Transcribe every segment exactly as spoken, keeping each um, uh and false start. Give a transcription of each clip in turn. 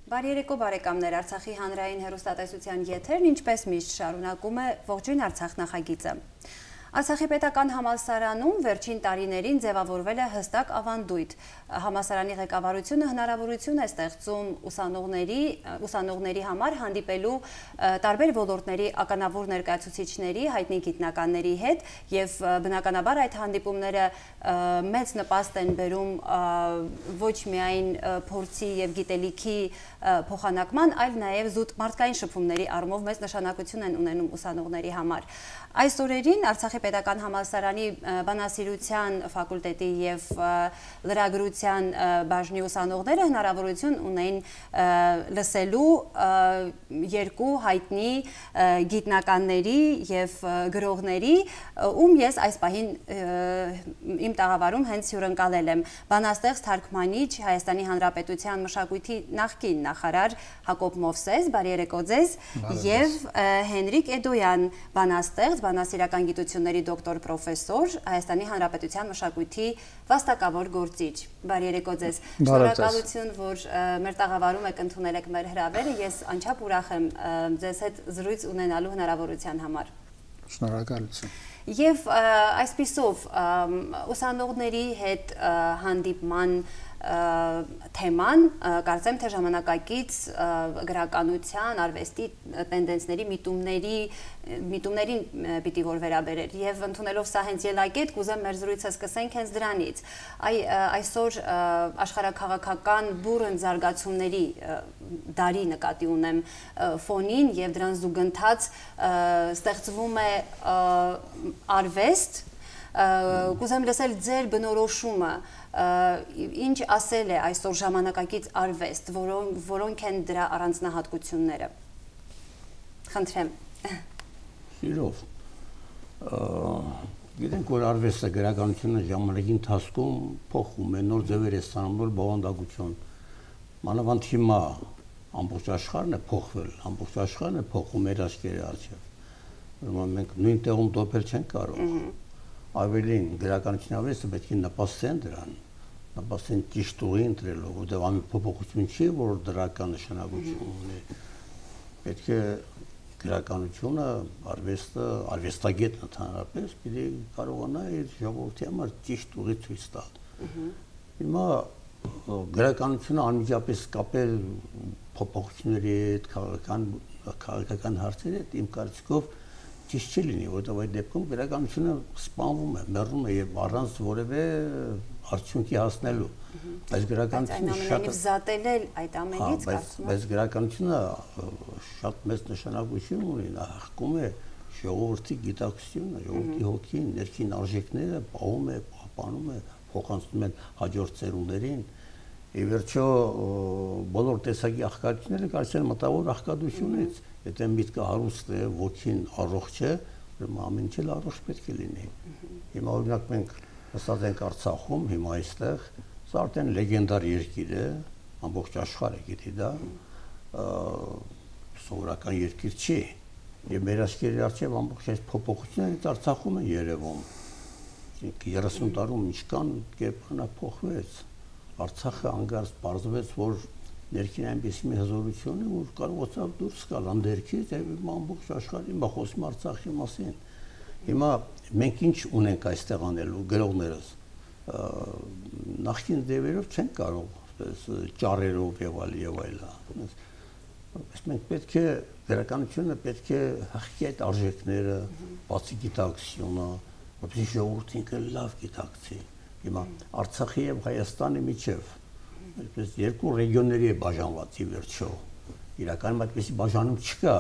Բարի երեկո բարեկամներ, Արցախի հանրային հեռուստատեսության եթերն ինչպես միշտ շարունակում է Ողջույն Արցախ նախագիծը։ Արցախի պետական համալսարանում վերջին տարիներին ձևավորվել է հստակ ավանդույթ։ Համալսարանի ղեկավարությունը հնարավորություն է ստեղծում ուսանողների, ուսանողների համար հանդիպելու տարբեր ոլորտների ականավոր ներկայացուցիչների, հայտնի գիտնականների հետ եւ բնականաբար այդ հանդիպումները մեծ նպաստ են բերում ոչ միայն փորձի եւ գիտելիքի փոխանակման, այլ նաեւ զուտ մարդկային շփումների առումով մեծ նշանակություն են ունենում ուսանողների համար։ Այս օրերին Արցախի պետական համալսարանի բանասիրության ֆակուլտետի եւ լրագրության բաժնի ուսանողները հնարավորություն ունեն լսելու երկու հայտնի գիտնականների եւ գրողների, ում ես այս պահին իմ տաղավարում հենց հյուրընկալել եմ բանաստեղծ թարգմանիչ Հայաստանի Հանրապետության մշակույթի նախկին նախարար Հակոբ Մովսես, բարի երեկո ձեզ, եւ Հենրիկ Էդոյան, բանաստեղծ, բանասիրական գիտությունների դոկտոր պրոֆեսոր, Հայաստանի Հանրապետության մշակույթի վաստակավոր գործիչ։ Բարի երեկո ձեզ։ Շնորհակալություն, որ մեր տաղավարում եք ընդունել եք մեր հրավերը, ես անչափ ուրախ եմ ձեզ հետ զրույց ունենալու հնարավորության համար։ Շնորհակալություն։ Եվ այսպիսով ուսանողների հետ հանդիպման թեման, կարծեմ թե ժամանակակից գրականության, արվեստի տենդենսների, միտումների, միտումներին պիտի որ վերաբերեր եւ ընդունելով սա հենց ելակետ, կուզեմ մեր զրույցը սկսենք հենց դրանից։ Այ այսօր աշխարհաքաղաքական բուրըն զարգացումների դարի նկատի ունեմ ֆոնին եւ դրան զուգընթաց ստեղծվում է արվեստ, կուզեմ լսել ձեր բնորոշումը, ինչ ասել է այսօր ժամանակակից արվեստ, որոնք են դրա առանձնահատկությունները։ Խնդրեմ։ Սիրով, գիտենք, որ արվեստը գրականությունը ժամանակի ընթացքում փոխում է, նոր ձևեր է ստանում, նոր բովանդակություն։ Մանավանդ հիմա ամբողջ աշխարհն է փոխվել, ամբողջ աշխարհն է փոխում մեր աչքերի առջև։ Ուրեմն մենք նույն տեղում տոփել չենք կարող։ Ավելին գրականության արվեստը պետք է նպաստեն դրան, նպաստեն ճիշտ ուղի ընտրելով, որտեղ ամեն փոփոխություն չի, որ դրական նշանակություն ունի։ Պետք է գրականությունը, արվեստը, արվեստագետն ընդհանրապես պիտի կարողանա իր ժողովրդի համար ճիշտ ուղի ցույց տալ։ Հիմա գրականությունը անմիջապես կապել փոփոխությունների հետ, քաղաքական քաղաքական հարցերի հետ, իմ կարծիքով ճիշտ չի լինի, որտեղ այդ դեպքում գրականությունը սպանվում է, մեռնում է եւ առանց որևէ արդյունքի հասնելու։ Բայց գրականությունը շատ զատել է այդ ամենից, կարծում եմ։ Բայց գրականությունը շատ մեծ նշանակություն ունի, նա հղկում է ժողովրդի գիտակցությունը, ժողովրդի հոգին, ներքին արժեքները պահում է, պահպանում է, փոխանցում են հաջորդ ծերուններին։ Ի վերջո բոլոր տեսակի աղքատությունները կարծեն մտավոր աղքատությունից։ Եթե միտքը հարուստ է, ոգին առողջ է, ուրեմն ամեն ինչ առողջ պետք է լինի։ Հիմա օրինակ մենք նստած ենք Արցախում, հիմա այստեղ, սա արդեն լեգենդար երկիր է, ամբողջ աշխարհը գիտի դա, սովորական երկիր չի։ Եվ մեր աչքերի առջև ամբողջ այս փոփոխությունները Արցախում են երևում։ երեսուն տարում ինչքան կերպարանա փոխվեց։ Արցախը անգարց պարզվեց, որ ներքին այնպեսի մի հզորություն է, որ կարողացավ դուրս գալ անդերքից եւ ամբողջ աշխարհի հիմա խոսում Արցախի մասին։ Հիմա մենք ինչ ունենք այստեղ անելու գրողներս։ Նախկին ձևերով չենք կարող, այսպես ճառերով եւ այլ եւ այլն։ Բայց մենք պետք է գրականությունը պետք է հղկի այդ արժեքները, բացի գիտակցությունը, որպեսզի ժողովուրդը ինքը լավ գիտակցի։ Հիմա Արցախի եւ Հայաստանի միջև այսպես երկու ռեգիոնների է բաժանված ի վերջո։ Իրականում այդպեսի բաժանում չկա,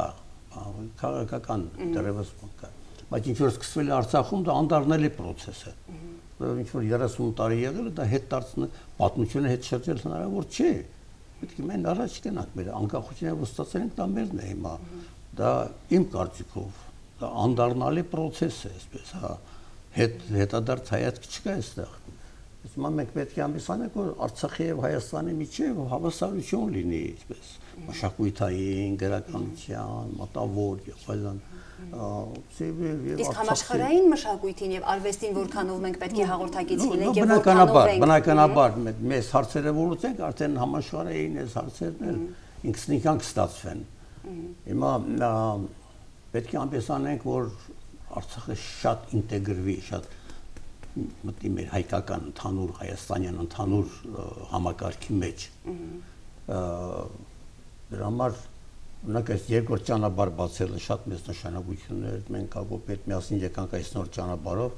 քաղաքական դեռևս կա։ Բայց ինչ որ սկսվել է Արցախում, դա անդառնալի process է։ Որովհետեւ ինչ որ երեսուն տարի եղել է, դա հետ դարձնել պատմությունը հետ շրջել հնարավոր չէ։ Պետք է մենք առաջ գնանք, մեր անկախությունը որ ստացել ենք, դա մերն է հիմա։ Դա իմ կարծիքով, դա անդառնալի process է, այսպես, հա, հետ հետադարձ հայացք չկա այստեղ։ Հիմա մենք պետք է ամուսնանանք, որ Արցախի եւ Հայաստանի միջեւ հավասարություն լինի, այսպես, մշակութային, գրականության, մտավոր եւ այլն։ Իսկ համաշխարհային մշակույթին եւ արվեստին որքանով մենք պետք է հաղորդակից լինենք եւ որքանով ենք։ Բնականաբար, մեզ հարցերը որոց ենք, արդեն համաշխարհային այս հարցերն էլ ինքնին կստացվեն։ Հիմա պետք է այնպես անենք, որ Արցախը շատ ինտեգրվի, շատ մտնի մեր հայկական ընդհանուր հայաստանյան ընդհանուր համակարգի մեջ։ Դրա համար օրինակ այս երկրորդ ճանապարհ բացելը շատ մեծ նշանակություն էր։ Մենք Հակոբետ միասին եկանք այս նոր ճանապարհով,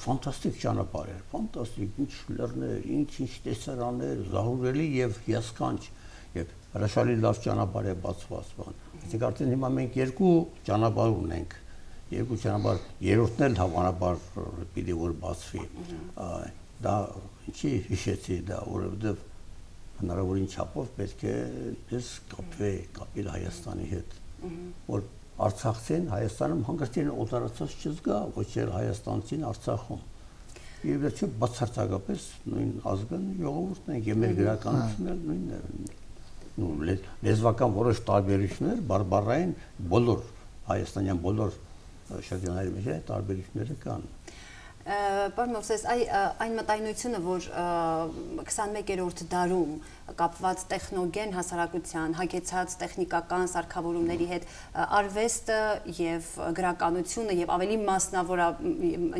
ֆանտաստիկ ճանապարհ էր, ֆանտաստիկ, ինչ լեռներ, ինչ-ինչ տեսարաններ, զարհուրելի եւ հիասքանչ եւ հրաշալի լավ ճանապարհ է բացված բան։ Այսինքն արդեն հիմա մենք երկու ճանապարհ ունենք։ Երկու ճանապարհ, երրորդն էլ հավանաբար պիտի որ բացվի։ Դա ինչի հիշեցի դա, որովհետև հնարավորին չափով պետք է ես կապվի, կապել Հայաստանի հետ, որ Արցախցին Հայաստանում հանգստին օտարացած չզգա, ոչ էլ հայաստանցին Արցախում։ Եվ վերջը բացարձակապես նույն ազգն ժողովուրդն են, եւ մեր գրականությունն էլ նույնն է։ Նու լեզվական որոշ տարբերություններ, բարբառային բոլոր հայաստանյան բոլոր շրջանների մեջ տարբերությունները կան։ Պարոն Մովսես, այն մտայնությունը, որ քսանմեկերորդ դարում կապված տեխնոգեն հասարակության, հագեցած տեխնիկական սարքավորումների հետ արվեստը եւ գրականությունը եւ ավելի մասնավոր,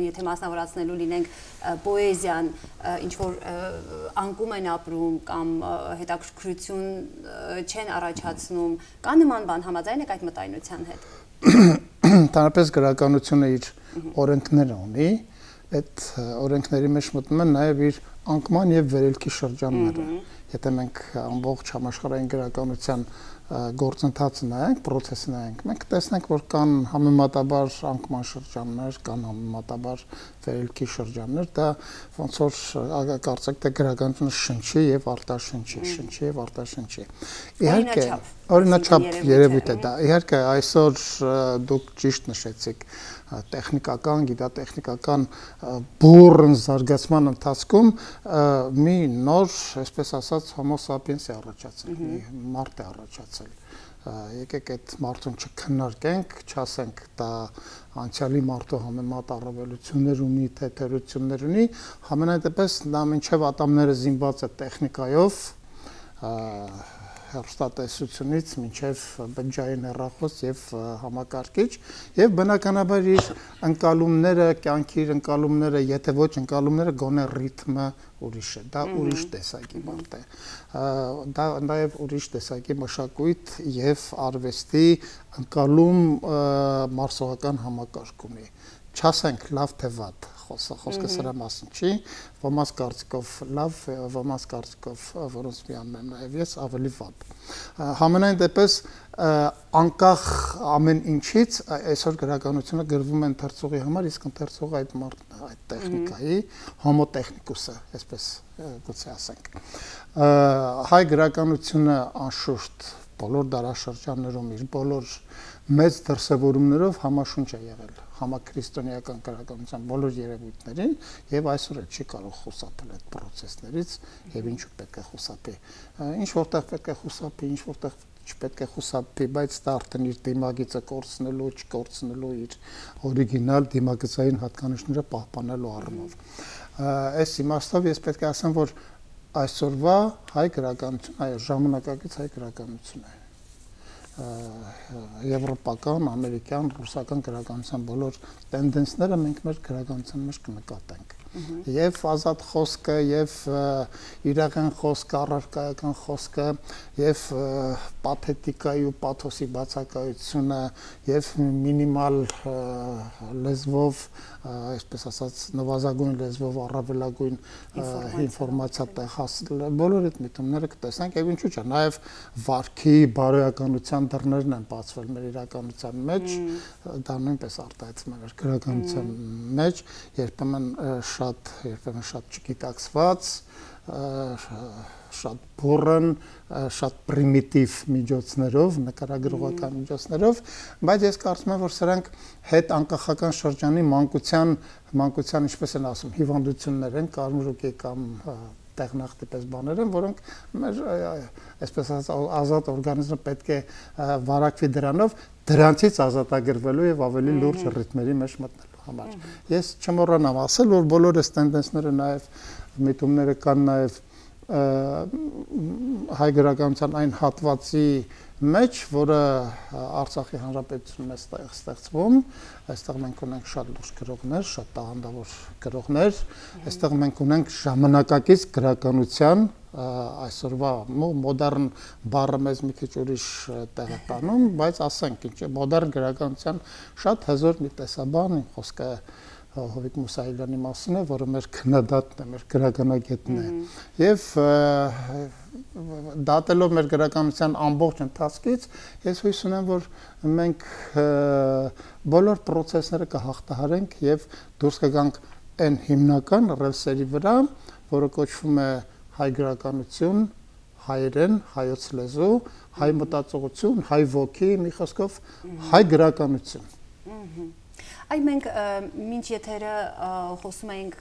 եթե մասնավորացնելու լինենք պոեզիան, ինչ որ անկում են ապրում կամ հետաքրքրություն չեն առաջացնում, կա նման բան, համաձայն եք այդ մտայնության հետ։ Տարապես գրականությունը իր օրենքները ունի, այդ օրենքների մեջ մտնում են նաև իր անկման եւ վերելքի շրջանները։ Եթե մենք ամբողջ համաշխարհային գրականության գործընթացը նայենք, process-ը նայենք, մենք տեսնենք, որ կան համեմատաբար անկման շրջաններ, կան համեմատաբար վերելքի շրջաններ, դա ոնց որ կարծեք թե գրականությունը շնչի եւ արտաշնչի, շնչի եւ արտաշնչի։ Իհարկե, օրինաչափ երևույթ է դա։ Իհարկե, այսօր դուք ճիշտ նշեցիք, տեխնիկական, գիտատեխնիկական բուրըն զարգացման ընթացքում մի նոր, այսպես ասած, homo sapiens է առաջացել, մի մարդ է առաջացել։ Եկեք այդ մարդուն չքննարկենք, չասենք դա անցյալի մարդու համեմատ առավելություններ ունի, թեթերություններ ունի, համենայն դեպս նա մինչև ատամները զինված է տեխնիկայով, հեռուստատեսությունից մինչև բջջային հեռախոս եւ համակարգիչ եւ բնականաբար իր ընկալումները, կյանքի իր ընկալումները, եթե ոչ ընկալումները, գոնե ռիթմը ուրիշ է, դա ուրիշ տեսակի մարդ է։ Դա նաեւ ուրիշ տեսակի մշակույթ եւ արվեստի ընկալում մարսողական համակարգ ունի։ Չասենք լավ թե վատ, խոսքը սրա մասին չի, ոմանց կարծիքով լավ, ոմանց կարծիքով որոնց միանն եմ նաև ես ավելի վատ։ Համենայն դեպս անկախ ամեն ինչից այսօր գրականությունը գրվում է ընթերցողի համար, իսկ ընթերցողը այդ մարդն է, այդ տեխնիկայի, homo technicus-ը, այսպես գուցե ասենք։ Հայ գրականությունը անշուշտ բոլոր դարաշրջաններում իր բոլոր մեծ դրսևորումներով համաշունչ է եղել համաքրիստոնեական գրականության բոլոր երևույթներին եւ այսօր էլ չի կարող խուսափել այդ process-ներից եւ ինչու պետք է խուսափի։ Ինչ որտեղ պետք է խուսափի, ինչ որտեղ չպետք է խուսափի, բայց դա արդեն իր դիմագիծը կորցնելու, չկորցնելու իր օրիգինալ դիմագծային հատկանիշները պահպանելու առումով։ Այս իմաստով ես պետք է ասեմ, որ այսօրվա հայ գրականություն, այո, ժամանակակից հայ գրականություն է։ Եվրոպական, ամերիկյան, ռուսական գրականության բոլոր տենդենսները մենք մեր գրականության մեջ կնկատենք։ Եվ ազատ խոսքը, եւ իրական խոսքը, առարկայական խոսքը, եւ պաթետիկայի ու պաթոսի բացակայությունը, եւ մինիմալ լեզվով, այսպես ասած, նվազագույն լեզվով առավելագույն ինֆորմացիա տեղ հասնել, բոլոր այդ միտումները կտեսնենք, եւ ինչու՞ չէ, նաեւ վարքի բարոյականության դռներն են բացվել մեր իրականության մեջ, դա նույնպես արտահայտվում է մեր գրականության մեջ, երբեմն շատ, երբեմն շատ չգիտակցված, շատ բուրըն, շատ պրիմիտիվ միջոցներով, նկարագրողական միջոցներով, բայց ես կարծում եմ, որ սրանք հետ անկախական շրջանի մանկության, մանկության ինչպես են ասում, հիվանդություններ են, կարմրուկի կամ տեղնախտի պես բաներ են, որոնք մեր այսպես ասած ազատ օրգանիզմը պետք է վարակվի դրանով, դրանցից ազատագրվելու եւ ավելի լուրջ ռիթմերի մեջ մտնելու համար։ Ես չմոռանամ ասել, որ բոլոր այս տենդենսները նաեւ միտումները կան նաեւ հայ գրականության այն հատվածի մեջ, որը Արցախի Հանրապետությունում է ստեղծվում, այստեղ մենք ունենք շատ լուրջ գրողներ, շատ տաղանդավոր գրողներ, այստեղ մենք ունենք ժամանակակից գրականության այսօրվա մոդեռն բառը մեզ մի քիչ ուրիշ տեղ է տանում, բայց ասենք ինչ է մոդեռն գրականության շատ հզոր մի տեսաբան, խոսքը Հովիկ Մուսայելյանի մասին է, որը մեր քննադատն է, մեր գրականագետն է։ Եվ դատելով մեր գրականության ամբողջ ընթացքից, ես հույս ունեմ, որ մենք բոլոր process-ները կհաղթահարենք եւ դուրս կգանք այն հիմնական ռելսերի վրա, որը կոչվում է հայ գրականություն, հայերեն, հայոց լեզու, հայ մտածողություն, հայ ոգի, մի խոսքով հայ գրականություն։ Այ մենք մինչ եթերը խոսում ենք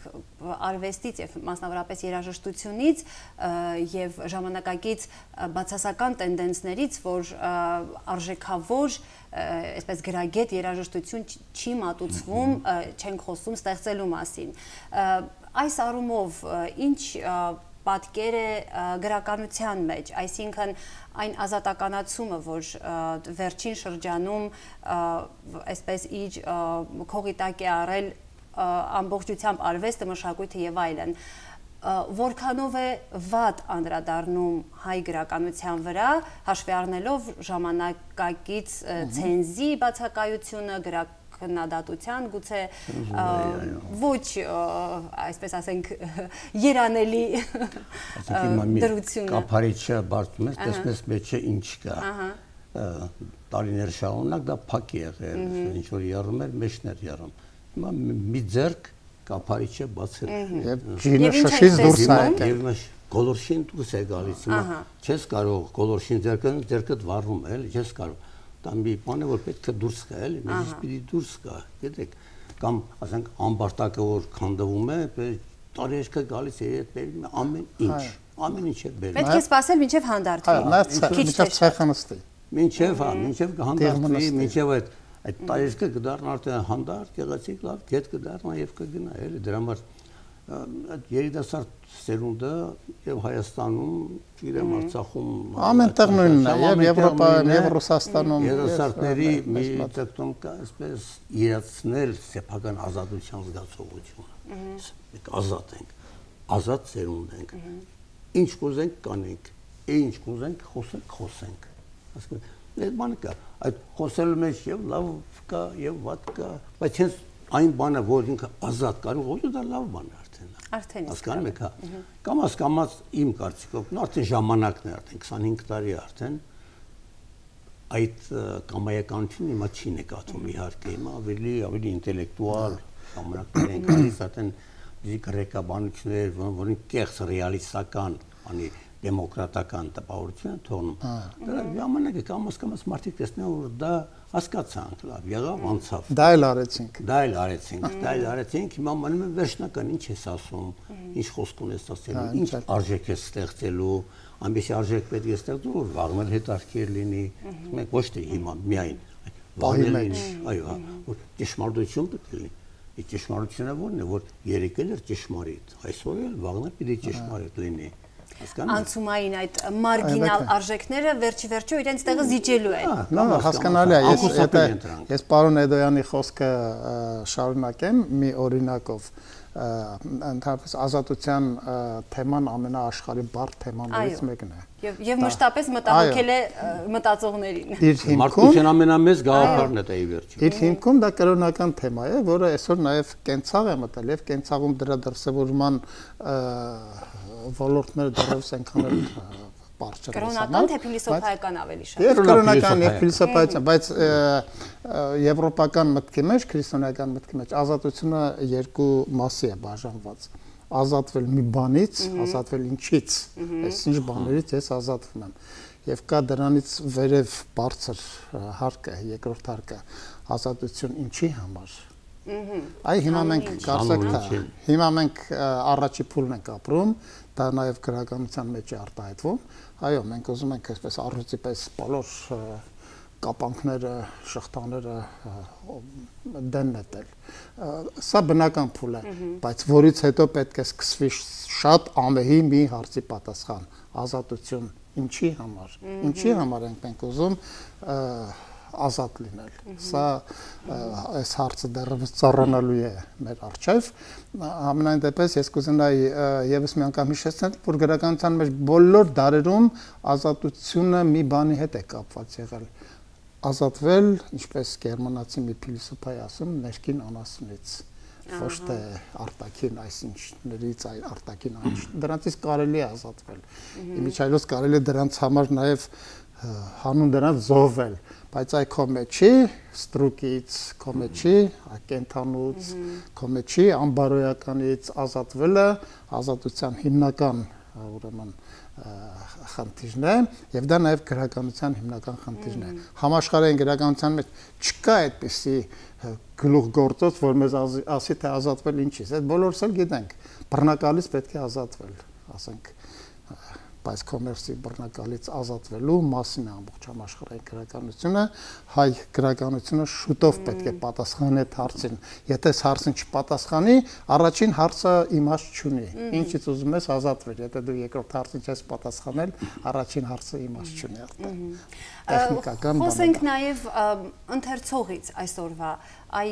արվեստից եւ մասնավորապես երաժշտությունից եւ ժամանակակից բացասական տենդենսներից, որ արժեքավոր, այսպես գրագետ երաժշտություն չի մատուցվում, չենք խոսում ստեղծելու մասին։ Այս առումով ինչ պատկեր է գրականության մեջ, այսինքն այն ազատականացումը, որ վերջին շրջանում այսպես իր քողիտակ է առել ամբողջությամբ արվեստը, մշակույթը եւ այլն, որքանով է վատ անդրադառնում հայ գրականության վրա, հաշվի առնելով ժամանակակից ցենզի բացակայությունը, քննադատության գուցե ոչ այսպես ասենք երանելի դրությունը կափարիչը բարձում ես տեսնես մեջը ինչ կա տարիներ շարունակ դա փակ է եղել ինչ որ եռում էր մեջն էր եռում հիմա մի ձեռք կափարիչը բացել եւ ջինը շշից դուրս է եկել գոլորշին դուրս է գալիս հիմա չես կարող գոլորշին ձեռքը ձեռքդ վառում է էլի չես կարող Մի բան է, որ պետք է դուրս գա, էլի, մեզից պիտի դուրս գա, գիտեք, կամ ասենք ամբարտակը որ քանդվում է, տարեշկը գալիս է հետ բերում է ամեն ինչ, ամեն ինչ է բերում։ Պետք է սպասել մինչև հանդարտվի։ Մինչև ցեխը նստի։ Մինչև, հա, մինչև հանդարտվի, մինչև այդ այդ տարեշկը կդառնա արդեն հանդարտ, գեղեցիկ լավ, գետ կդառնա եւ կգնա, էլի, դրա համար այդ երիտասարդ սերունդը եւ Հայաստանում, իրեմ Արցախում ամենտեղ նույնն է եւ Եվրոպայում եւ Ռուսաստանում երիտասարդների մի տեքստում կա այսպես իրացնել սեփական ազատության զգացողությունը մենք ազատ ենք ազատ սերունդ ենք ինչ կուզենք կանենք ինչ կուզենք խոսենք խոսենք հասկանու այդ բանը կա այդ խոսելու մեջ եւ լավ կա եւ վատ կա բայց հենց այն բանը որ ինքը ազատ կարող ոչ դա լավ բան է Արդեն հասկանում եք, հա։ Կամաց կամաց իմ կարծիքով, արդեն ժամանակն է, արդեն քսանհինգ տարի արդեն այդ կամայականությունը հիմա չի նկատվում իհարկե, հիմա ավելի ավելի ինտելեկտուալ ժամանակներ են գալիս, արդեն դի գրեկաբանություններ, որոնք կեղծ ռեալիստական, անի դեմոկրատական տպավորություն են թողնում։ Դրա ժամանակը կամաց կամաց մարդիկ տեսնեն, որ դա հասկացանք, լավ, եղավ, անցավ։ Դա էլ արեցինք։ Դա էլ արեցինք, դա էլ արեցինք, հիմա մնում է վերջնական ինչ ես ասում, ինչ խոսք ունես ասելու, ինչ արժեք ես ստեղծելու, այնպեսի արժեք պետք է ստեղծել, որ վաղն հետաքրքիր լինի, մենք ոչ թե հիմա միայն պահի մեջ, այո, որ ճշմարտություն պետք է լինի։ Այդ ճշմարտությունը ո՞րն է, որ երեկել էր ճշմարիտ, այսօր էլ վաղն պիտի ճշմարիտ լինի։ Անցումային այդ մարգինալ արժեքները վերջի վերջո իրենց տեղը զիջելու են։ Նա հասկանալի է, ես եթե ես պարոն Էդոյանի խոսքը շարունակեմ մի օրինակով, ընդհանրապես ազատության թեման ամենաաշխարհի բարդ թեմաներից մեկն է։ Եվ եւ մշտապես մտահոգել է մտածողներին։ Մարդկության ամենամեծ գաղափարն է դա ի վերջո։ Իր հիմքում դա կրոնական թեմա է, որը այսօր նաեւ կենցաղ է մտել եւ կենցաղում դրա դրսևորման ոլորտները դեռևս այնքան էլ բարձր են։ Կրոնական թե փիլիսոփայական ավելի շատ։ Եվ կրոնական եւ փիլիսոփայական, բայց եվրոպական մտքի մեջ, քրիստոնեական մտքի մեջ ազատությունը երկու մասի է բաժանված։ Ազատվել մի բանից, ազատվել ինչից, այսինչ բաներից ես ազատվում եմ։ Եվ կա դրանից վերև բարձր հարկը, երկրորդ հարկը, ազատություն ինչի համար։ Այ հիմա մենք կարծեք թե հիմա մենք առաջի փուլն ենք ապրում, դա նաև գրականության մեջ է արտահայտվում։ Այո, մենք ուզում ենք այսպես առյուծի պես բոլոր կապանքները, շղթաները դեն նետել։ Սա բնական փուլ է, բայց որից հետո պետք է սկսվի շատ ամեհի մի հարցի պատասխան՝ ազատություն ինչի համար։ Ինչի համար ենք մենք ուզում ազատ լինել։ Սա այս հարցը դեռևս ծառանալու է մեր առջև։ Համենայն դեպս ես կուզենայի եւս մի անգամ հիշեցնել, որ գրականության մեջ բոլոր դարերում ազատությունը մի բանի հետ է կապված եղել։ Ազատվել, ինչպես գերմանացի մի փիլիսոփա է ասում, ներքին անասունից, ոչ թե արտաքին այսինչներից, այլ արտաքին այնչ։ Դրանից կարելի է ազատվել։ Իմիջիայլոց կարելի է դրանց համար նաև հանուն դրանց զոհվել, բայց այ քո մեջի ստրուկից, քո մեջի կենթանուց, քո մեջի անբարոյականից ազատվելը ազատության հիմնական ուրեմն խնդիրն է, եւ դա նաեւ գրականության հիմնական խնդիրն է։ Համաշխարհային գրականության մեջ չկա այդպիսի գլուխգործոց, որ մեզ ասի թե ազատվել ինչից։ Այդ բոլորս էլ գիտենք, բռնակալից պետք է ազատվել, ասենք, բայց կոմերցի բռնակալից ազատվելու մասին է ամբողջ համաշխարհային գրականությունը, հայ գրականությունը շուտով պետք է պատասխանի այդ հարցին։ Եթե այս հարցին չպատասխանի, առաջին հարցը իմաստ չունի։ Ինչից ուզում ես ազատվել, եթե դու երկրորդ հարցին չես պատասխանել, առաջին հարցը իմաստ չունի արդեն։ Տեխնիկական բան։ Խոսենք նաև ընթերցողից այսօրվա, այ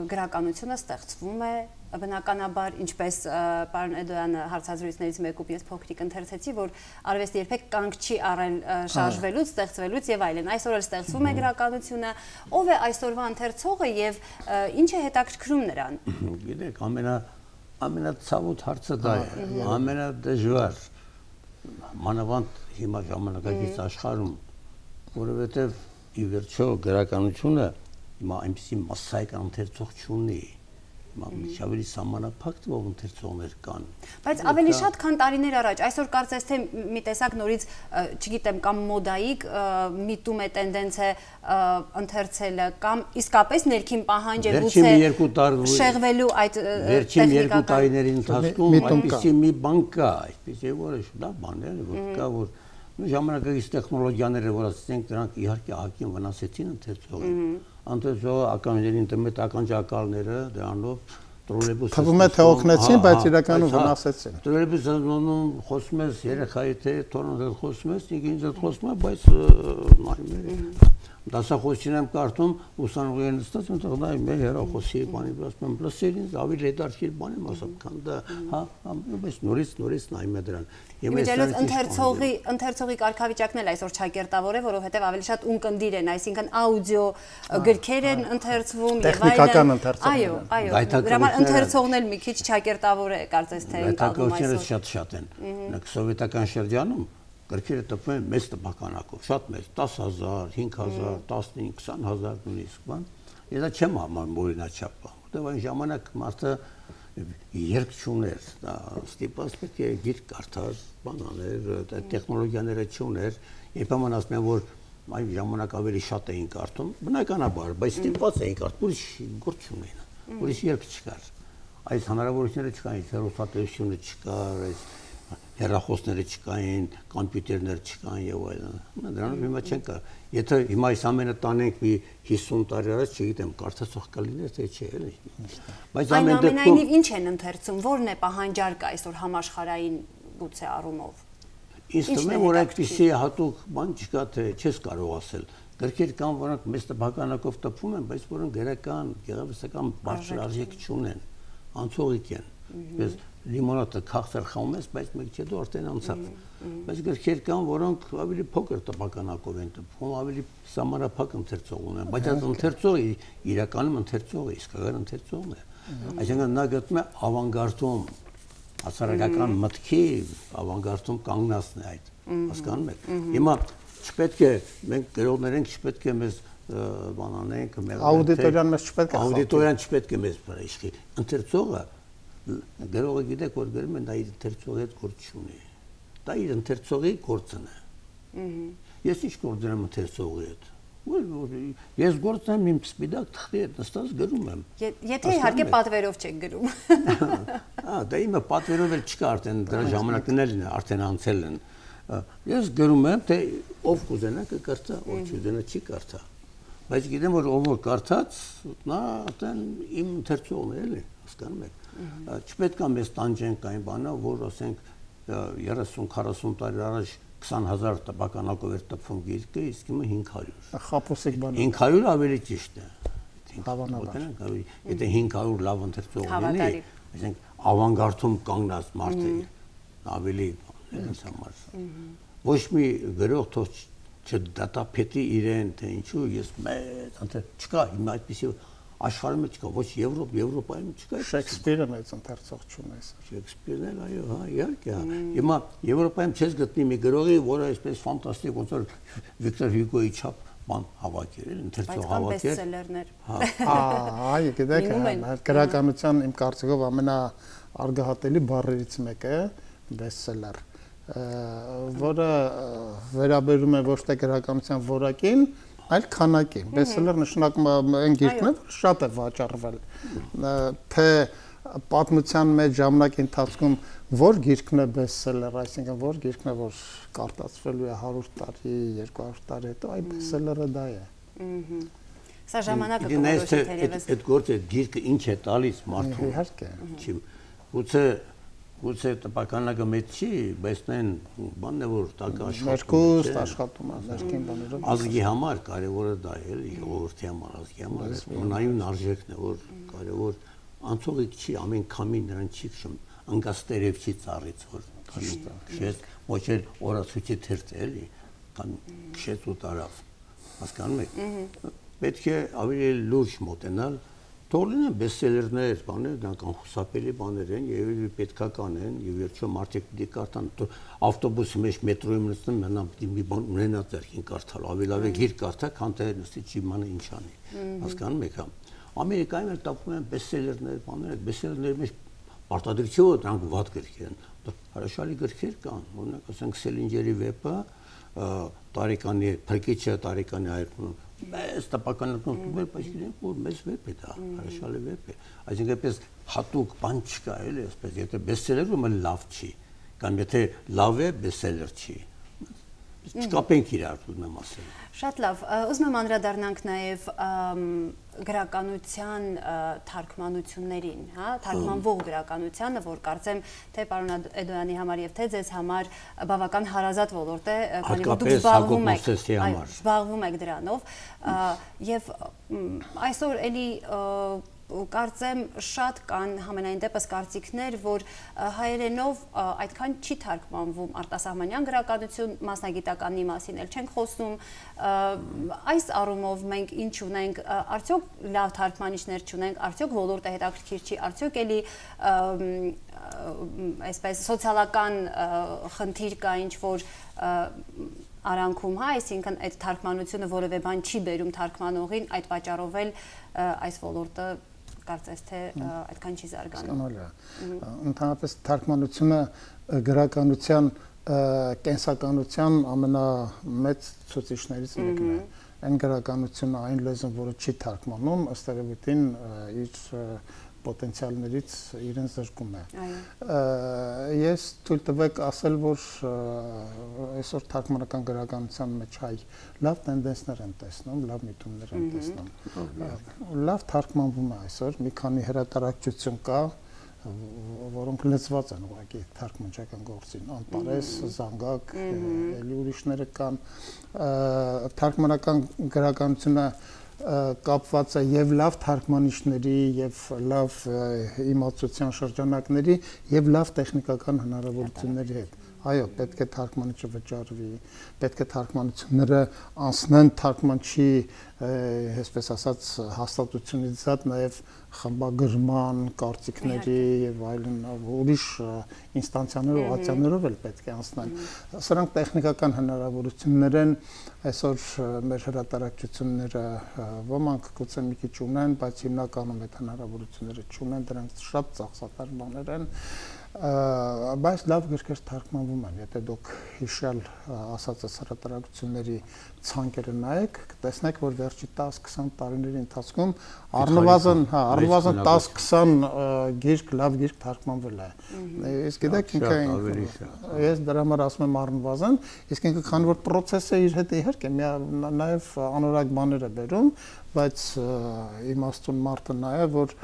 գրականությունը ստեղծվում է բնականաբար, ինչպես պարոն Էդոյանը հարցազրույցներից մեկում ես փոքրիկ ընթերցեցի, որ արվեստը երբեք կանգ չի առել շարժվելուց, ստեղծվելուց եւ այլն։ Այսօր էլ ստեղծվում է գրականությունը, ով է այսօրվա ընթերցողը եւ ինչ է հետաքրքրում նրան։ Գիտեք, ամենա ամենացավոտ հարցը դա է, ամենադժվար մանավանդ հիմա ժամանակակից աշխարհում, որովհետեւ ի վերջո գրականությունը հիմա այնպեսի մասսայական ընթերցող չունի։ Ավելի սահմանափակ թվով ընթերցողներ կան։ Բայց ավելի շատ, քան տարիներ առաջ, այսօր կարծես թե մի տեսակ նորից, չգիտեմ, կամ մոդայիկ միտում է տենդենց է ընթերցելը, կամ իսկապես ներքին պահանջ է գուցե շեղվելու այդ վերջին երկու տարիների ընթացքում այդպիսի մի բան կա, այդպիսի որոշ դա բաներ, որ կա, որ ժամանակակից տեխնոլոգիաները, որ ասենք, դրանք իհարկե ահագին վնասեցին ընթերցողին։ Ընթերցողը ականջերին ինտերնետ ականջակալները դրանով տրոլեյբուսը թվում է թե օգնեցին, բայց իրականում վնասեցին։ Տրոլեյբուսում խոսում ես երեխայի թե թորոնը խոսում ես, ինքն ինձ խոսում է, բայց նայում դասախոսին եմ կարդում, ուսանողի են նստած, այնտեղ նայ մեր հեռախոսի բանի ասում եմ, լսել ինձ ավելի հետաքրքիր բան եմ ասում, քան դա, հա, բայց նորից նորից նայում է դրան։ Իմիջիայլոց ընթերցողի ընթերցողի կարգավիճակն էլ այսօր չակերտավոր է, որովհետև ավելի շատ ունկնդիր են, այսինքն աուդիո գրքեր են ընթերցվում եւ այլն։ Այո, այո։ Դրա համար ընթերցողն էլ մի քիչ չակերտավոր է, կարծես թե ընկալվում այսօր։ Շատ-շատ են։ Նույնիսկ սովետական շրջանում գրքերը տպվում են մեծ տպականակով, շատ մեծ, դաս հազար, հինգ հազար, տասնհինգ, քսան հազար նույնիսկ բան։ Ես դա չեմ համարում օրինաչափ, որտեղ այն ժամանակ մարդը երկ չուներ, դա ստիպված պետք է գիրք կարդար, բան աներ, տեխնոլոգիաները չուներ, երբեմն ասում են, որ այն ժամանակ ավելի շատ էին կարդում, բնականաբար, բայց ստիպված էին կարդում, ուրիշ գործ չունեին, ուրիշ երկ չկար։ Այս հնարավորությունները չկային, հեռուստատեսությունը չկար, այս հեռախոսները չկային, կոմպյուտերներ չկային եւ այլն։ Դրանով հիմա չեն կա։ Եթե հիմա այս ամենը տանենք մի հիսուն տարի առաջ, չգիտեմ, կարծացող կլիներ թե չէ, էլի։ Բայց ամեն դեպքում ինչ են ընթերցում, ո՞րն է պահանջարկը այսօր համաշխարհային գուցե առումով։ Ինձ թվում է, որ այդպիսի հատուկ բան չկա, թե չես կարող ասել։ Գրքեր կան, որոնք մեծ տպականակով տպվում են, բայց որոնք գրական, գեղարվեստական բարձր արժեք չունեն, անցողիկ են։ Ես լիմոնադը քաղցր խմում ես, բայց մեկ չէ դու արդեն անցավ։ Բայց գրքեր կան, որոնք ավելի փոքր տպականակով են տպվում, ավելի սահմանափակ ընթերցող ունեն, բայց այդ ընթերցողը իրականում ընթերցողը, իսկական ընթերցողն է։ Այսինքն նա գտնում է ավանգարդում, հասարակական մտքի ավանգարդում կանգնածն է այդ, հասկանում եք։ Հիմա չպետք է մենք գրողներ ենք, չպետք է մեզ բան անենք, աուդիտորիան մեզ չպետք է աուդիտորիան չպետք է մեզ վրայժի։ Ընթերցողը գրողը գիտեք, որ գրում են, դա իր ընթերցողի հետ գործ չունի։ Դա իր ընթերցողի գործն է։ Ես ինչ գործ ունեմ ընթերցողի հետ։ Ես գործ եմ իմ սպիտակ թղթի հետ նստած գրում եմ։ Եթե իհարկե պատվերով չեք գրում։ Ահա, դա իմը պատվերով էլ չկա, արդեն դրա ժամանակներն են, արդեն անցել են։ Ես գրում եմ, թե ով կուզենա կկարդա, ով չուզենա չի կարդա։ բայց գիտեմ որ ով որ կարդաց, նա այդեն իմ ընթերցողն է, էլի, հասկանում եք։ Չպետք է մեզ տանջենք այն բանը, որ ասենք երեսուն քառասուն տարի առաջ քսան հազար տպականակով էր տպվում գիրքը, իսկ հիմա հինգ հարյուր։ Խաբոսիկ բան։ հինգ հարյուր ավելի ճիշտ է։ Հավանաբար։ Եթե հինգ հարյուր լավ ընթերցող լինի, այսինքն ավանգարդում կանգնած մարդ է, ավելի ինձ համար։ Ոչ մի գրող թող չդատապետի իրեն, թե ինչու ես մեծ ընթերց չկա, հիմա այդպեսի աշխարհում չկա, ոչ Եվրոպ, Եվրոպայում չկա։ Շեքսպիրը մեծ ընթերցող չունի։ Շեքսպիրն էլ այո, հա, իհարկե։ Հիմա Եվրոպայում չես գտնի մի գրողի, որը այսպես ֆանտաստիկ ոնց որ Վիկտոր Հյուգոյի չափ բան հավաքել, ընթերցող հավաքել։ Այո, գիտեք, գրականության իմ կարծիքով ամենաարգահատելի բառերից մեկը է բեսթսելեր, որը վերաբերում է ոչ թե գրականության որակին, այլ քանակին։ Բեսթսելեր նշանակում է այն գիրքն է, որ շատ է վաճառվել։ Թե պատմության մեջ ժամանակի ընթացքում որ գիրքն է բեսթսելեր, այսինքն որ գիրքն է, որ կարտացվելու է հարյուր տարի, երկու հարյուր տարի հետո, այ բեսթսելերը դա է։ Սա ժամանակը կորոշի թերևս։ Այդ գործը գիրքը ինչ է տալիս մարդուն։ Իհարկե։ Չի։ Գուցե գուցե տպականակը մեծ չի, բայց նեն բանն է որ տակը աշխատում է, աշխատում է, ներքին բաներով։ Ազգի համար կարևորը դա է, էլի, ժողովրդի համար, ազգի համար, մնայուն արժեքն է, որ կարևոր անցողիկ չի, ամեն քամի նրան չի քշում, անգաստերև չի ծառից, որ քշեց, ոչ էլ օրացույցի թերթ է, էլի, կամ քշեց ու տարավ, հասկանում եք։ Պետք է ավելի լուրջ մոտենալ, թող լինեն բեսթսելերներ, բաներ, դրանք անխուսափելի բաներ են, եւ պետքական են, եւ վերջո մարդիկ պիտի կարդան, ավտոբուսի մեջ մետրոյում նստում, մենամ պիտի մի բան ունենա ձեռքին կարդալ, ավելի լավ է գիրք կարդա, քան թե նստի չիմանը ինչ անի, հասկանում եք հա։ Ամերիկայում էլ տապում են բեսթսելերներ, բաներ, բեսթսելերների մեջ պարտադրիչով դրանք վատ գրքեր են, հրաշալի գրքեր կան, օրինակ ասենք Սելինջերի վեպը, տարեկանի փրկիչը տարեկանի այրում մեծ տպականակով բայց իրենք որ մեծ վեպ է դա, հրաշալի վեպ է, այսինքն այդպես հատուկ բան չկա, էլի, այսպես, եթե բեսթսելերը լավ չի, կամ եթե լավ է, բեսթսելեր չի, չկապենք իրար, ուզում եմ ասել։ Շատ լավ, ուզում եմ անդրադառնանք նաև գրականության թարգմանություններին, հա, թարգմանվող գրականությանը, որ կարծեմ թե պարոն Էդոյանի համար եւ թե ձեզ համար բավական հարազատ ոլորտ է, քանի որ դուք զբաղվում եք, զբաղվում եք դրանով, եւ այսօր էլի կարծեմ շատ կան համենայն դեպս կարծիքներ, որ հայերենով այդքան չի թարգմանվում արտասահմանյան գրականություն, մասնագիտականի մասին էլ չենք խոսում, այս առումով մենք ինչ ունենք, արդյոք լավ թարգմանիչներ չունենք, արդյոք ոլորտը հետաքրքիր չի, արդյոք էլի այսպես սոցիալական խնդիր կա ինչ-որ արանքում, հա, այսինքն այդ թարգմանությունը որևէ բան չի բերում թարգմանողին, այդ պատճառով էլ այս ոլորտը կարծես թե այդքան չի զարգանում։ Ընդհանրապես թարգմանությունը գրականության կենսականության ամենամեծ ցուցիչներից մեկն է։ Այն գրականությունը, այն լեզուն, որը չի թարգմանում, ըստ երևույթին իր պոտենցիալներից իրեն զրկում է։ Ես թույլ տվեք ասել, որ այսօր թարգմանական գրականության մեջ հայ լավ տենդենսներ են տեսնում, լավ միտումներ են տեսնում։ Լավ թարգմանվում է այսօր, մի քանի հրատարակչություն կա, որոնք լծված են ուղղակի թարգմանչական գործին, Անտարես, Զանգակ, էլի ուրիշները կան, թարգմանական գրականությունը կապված է եւ լավ թարգմանիչների եւ լավ իմացության շրջանակների եւ լավ տեխնիկական հնարավորությունների հետ։ Այո, պետք է թարգմանիչը վճարվի, պետք է թարգմանությունները անցնեն թարգմանչի, այսպես ասած, հաստատությունից զատ նաև խմբագրման, կարծիքների եւ այլն ուրիշ ինստանցիաներով, ատյաններով էլ պետք է անցնեն։ Սրանք տեխնիկական հնարավորություններ են, այսօր մեր հրատարակչությունները ոմանք գուցե մի քիչ ունեն, բայց հիմնականում այդ հնարավորությունները չունեն, դրանք շատ ծախսատար բաներ են։ բայց լավ գրքեր թարգմանվում են, եթե դուք հիշյալ ասածս հրատարակությունների ցանկերը նայեք, կտեսնեք, որ վերջի տասը քսան տարիների ընթացքում առնվազն, հա, առնվազն տասը քսան գիրք, լավ գիրք թարգմանվել է։ Իսկ գիտեք, ինքը ես դրա համար ասում եմ առնվազն, իսկ ինքը քանի որ process-ը իր հետ իհարկե նաև անորակ բաներ է բերում, բայց իմաստուն մարդը նայ է, որ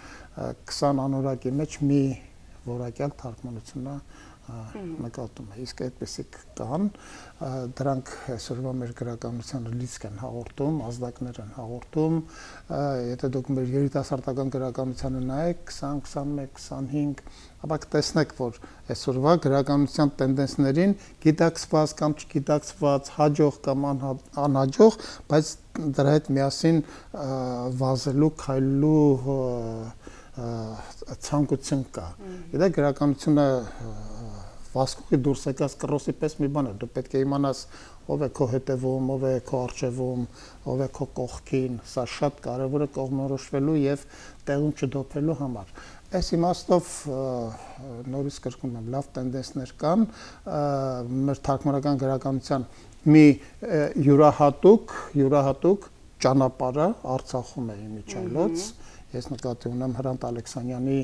քսան անորակի մեջ մի որակյալ թարգմանությունը նկատում է, իսկ այդպեսիք կան, դրանք այսօրվա մեր գրականությանը լիցք են հաղորդում, ազդակներ են հաղորդում, եթե դուք մեր երիտասարդական գրականությանը նայեք քսան, քսանմեկ, քսանհինգ, ապա կտեսնեք, որ այսօրվա գրականության տենդենսներին գիտակցված կամ չգիտակցված, հաջող կամ անհաջող, բայց դրա հետ միասին վազելու, քայլելու ցանկություն կա։ Գիտեք, գրականությունը վասկուղի դուրս եկած կռոսի պես մի բան է, դու պետք է իմանաս ով է քո հետևում, ով է քո առջևում, ով է քո կողքին, սա շատ կարևոր է կողմնորոշվելու եւ տեղում չդոփելու համար։ Այս իմաստով նորից կրկնում եմ, լավ տենդենսներ կան, մեր թարգմանական գրականության մի յուրահատուկ, յուրահատուկ ճանապարհը Արցախում է իմիջայլոց։ Ես նկատի ունեմ Հրանտ Ալեքսանյանի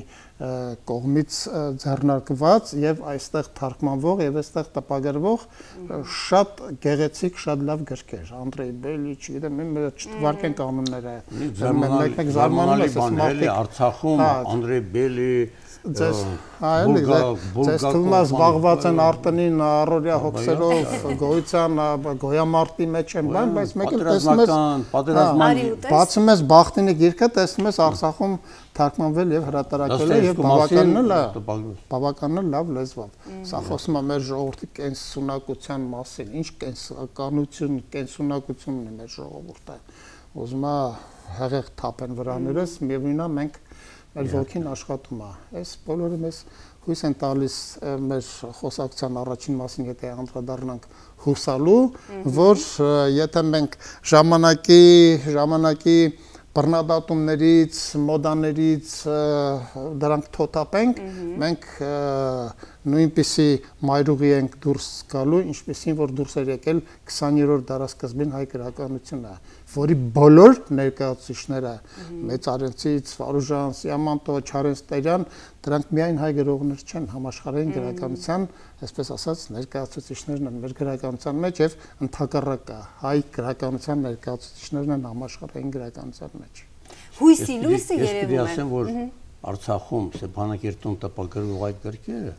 կողմից ձեռնարկված եւ այստեղ թարգմանվող եւ այստեղ տպագրվող շատ գեղեցիկ, շատ լավ գրքեր, Անդրեյ Բելի, չգիտեմ, մեր չթվարկեն կանոնները, մեկ-մեկ զարմանալի բան էլի Արցախում Անդրեյ Բելի Ձեզ այլ ձեզ թվում է զբաղված են արտոնին առօրյա հոգսերով գոյության գոյամարտի մեջ են բան, բայց մեկը տեսնում ես բացում ես Բախտինի գիրքը, տեսնում ես Արցախում թարգմանվել եւ հրատարակվել է եւ բավականին բավականին լավ լեզվով։ Սա խոսում է մեր ժողովրդի կենսունակության մասին, ինչ կենսականություն, կենսունակություն ունի մեր ժողովուրդը։ Ուզում է հեղեղ թափեն վրաներս, միևնույնն է մենք մեր ոգին աշխատում է։ Այս բոլորը մեզ հույս են տալիս մեր խոսակցության առաջին մասին, եթե անդրադառնանք հուսալու, որ եթե մենք ժամանակի ժամանակի բռնադատումներից, մոդաներից դրանք թոթափենք, մենք նույնպիսի մայրուղի ենք դուրս գալու, ինչպեսին որ դուրս էր եկել քսաներորդ դարասկզբին հայ գրականությունը, որի բոլոր ներկայացուցիչները Մեծարենցից, Վարուժան, Սիամանտո, Չարենց-Տերյան, դրանք միայն հայ գրողներ չեն, համաշխարհային գրականության, այսպես ասած, ներկայացուցիչներն են մեր գրականության մեջ եւ ընդհակառակը հայ գրականության ներկայացուցիչներն են համաշխարհային գրականության մեջ։ Հույսի լույսը երևում է։ Ես ասեմ, որ Արցախում Ստեփանակերտում տպագրվող այդ գրքերը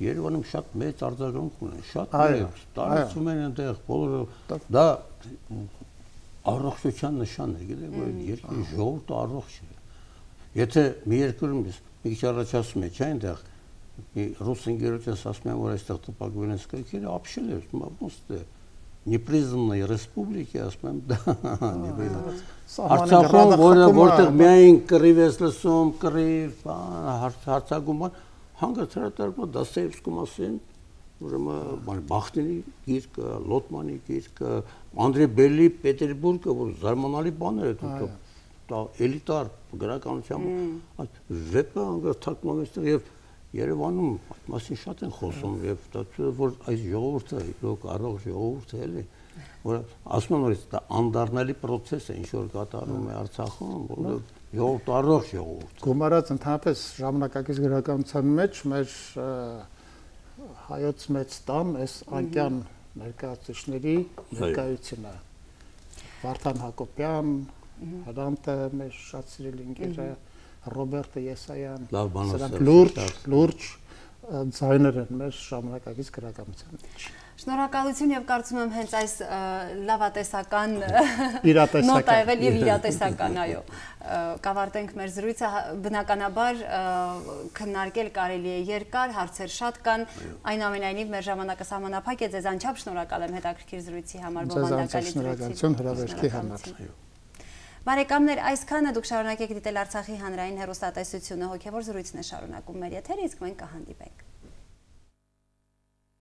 Երևանում շատ մեծ արձագանք ունեն, շատ մեծ, տարածում են այնտեղ, բոլորը դա առողջության նշան է, գիտեք, որ երկրի ժողովուրդը առողջ է։ Եթե մի երկրում մի քիչ առաջ ասում եք, չէ՞, այնտեղ մի ռուս ընկերոջս ասում են, որ այստեղ տպագրվել են գրքերը, ապշել է, ոնց է Непризнанной республики, ասում եմ, դա Արցախում, որտեղ միայն կռիվ ես լսում, կռիվ, հարցակում, հանգած հրատարակում Դոստոևսկու մասին, ուրեմն Բախտինի գիրքը, Լոտմանի գիրքը, Անդրեյ Բելի Պետերբուրգը, որ զարմանալի բաներ է, դա էլիտար գրականության, այդ վեպը հանգած թարգմանվել եւ Երևանում այդ մասին շատ են խոսում եւ դա որ այս ժողովուրդը իրոք առողջ ժողովուրդ է էլի, որ ասում են որ դա անդառնալի process է, ինչ որ կատարվում է Արցախում, որ ժողովուրդ առողջ ժողովուրդ։ Գումարած ընդհանրապես ժամանակակից գրականության մեջ մեր հայոց մեծ տան այս անկյան ներկայացուցիչների ներկայությունը Վարդան Հակոբյան, Հրանտը մեր շատ սիրելի ընկերը Ռոբերտը Եսայան, սրանք լուրջ, լուրջ ձայներ են մեր ժամանակակից գրականության մեջ։ Շնորհակալություն եւ կարծում եմ հենց այս լավատեսական իրատեսական եւ իրատեսական, այո, կավարտենք մեր զրույցը, բնականաբար քննարկել կարելի է երկար, հարցեր շատ կան, այնուամենայնիվ մեր ժամանակը սահմանափակ է, ձեզ անչափ շնորհակալ եմ հետաքրքիր զրույցի համար, բովանդակալի շնորհակալություն հրավերքի համար։ Բարեկամներ, այսքանը դուք շարունակեք դիտել Արցախի հանրային հեռուստատեսությունը, հոգևոր զրույցն է շարունակում մեր եթերը, իսկ մենք կհանդիպենք։